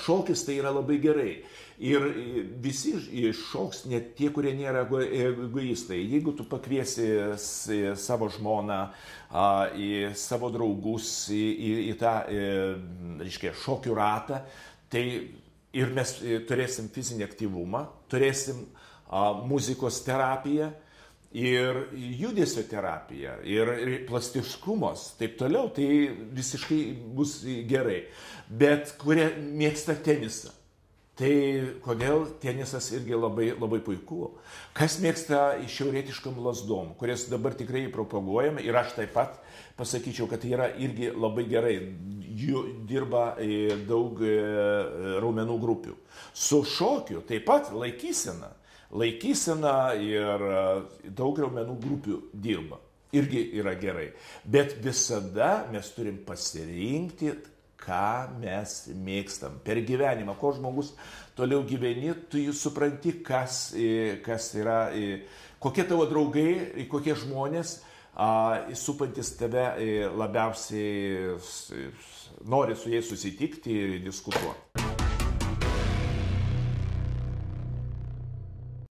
šokis tai yra labai gerai. Ir visi šoks, net tie, kurie nėra egoistai. Jeigu tu pakviesi savo žmoną, į savo draugus, į tą, reiškia, šokių ratą, tai ir mes turėsim fizinį aktyvumą, turėsim muzikos terapiją, ir judesio terapija, ir plastiškumas, taip toliau, tai visiškai bus gerai. Bet kurie mėgsta tenisą, tai kodėl tenisas irgi labai, labai puiku. Kas mėgsta šiaurietiškam lazdom, kurias dabar tikrai propaguojame, ir aš taip pat pasakyčiau, kad tai yra irgi labai gerai. Jų dirba daug raumenų grupių. Su šokiu taip pat laikysena ir daug raumenų grupių dirba. Irgi yra gerai. Bet visada mes turim pasirinkti, ką mes mėgstam per gyvenimą. Ko žmogus toliau gyveni, tu supranti, kas yra, kokie tavo draugai, kokie žmonės supantis tave labiausiai nori su jais susitikti ir diskutuoti.